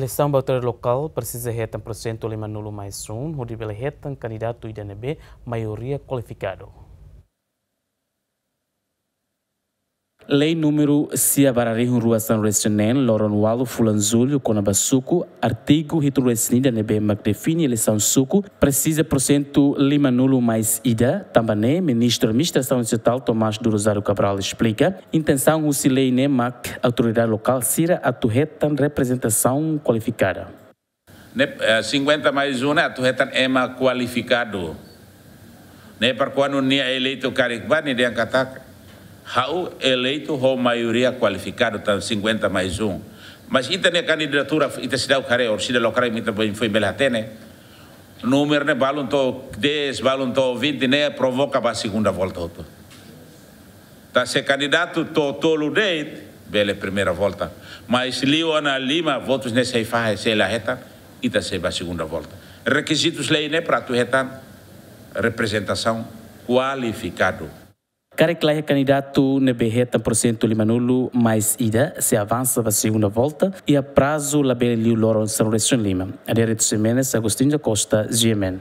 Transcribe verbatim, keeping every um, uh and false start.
Eleisaun ba autoridade lokál presiza hetan porsentu lima-nulu mais um, hodi bele hetan kandidatu ida ne'ebé maioria kualifikadu. Lei númeru sia barra rihun rua sanulu-resin-neen, loron ualu fulan Jullu, kona-ba suku, artigu hitu-resin-ida ne'ebé mak define eleisaun suku, presiza porsentu lima-nulu mais ida, tanba ne'e, Ministru Administrasaun Estatál Tomás do Rosário Cabral esplika, intensaun husi lei ne'e mak autoridade lokál sira atu hetan reprezentasaun kualifikada. Ne'e, eh, cinquenta mais um ne'e atu hetan ema kualifikadu. Ne'e para kuandu nia eleitu karik bá nia dehan katak, ha'u eleitu ho maioria kualifikadu, tan cinquenta mais um. Mas ita-nia kandidatura, ita seidauk haree, orsida lokraik mak ita foin bele hatene. Númeru ne'e balun to'o dez, balun to'o vinte ne'e provoka ba segunda volta hotu. Tanba se kandidatu to'o tolu de'it, bele primeira volta. Mas liu ona lima votus ne'e sei fahe, sei la hetan, ita sei ba segunda volta. Rekizitus lei ne'e para atu hetan reprezentasaun kualifikadu. Karik la iha kandidatu ne'ebé hetan porsentu lima-nulu mais ida, sei avansa ba segunda volta, iha prazu labele liu loron sanulu-resin-lima. Adérito Ximenes, Agostinho da Costa, G M N.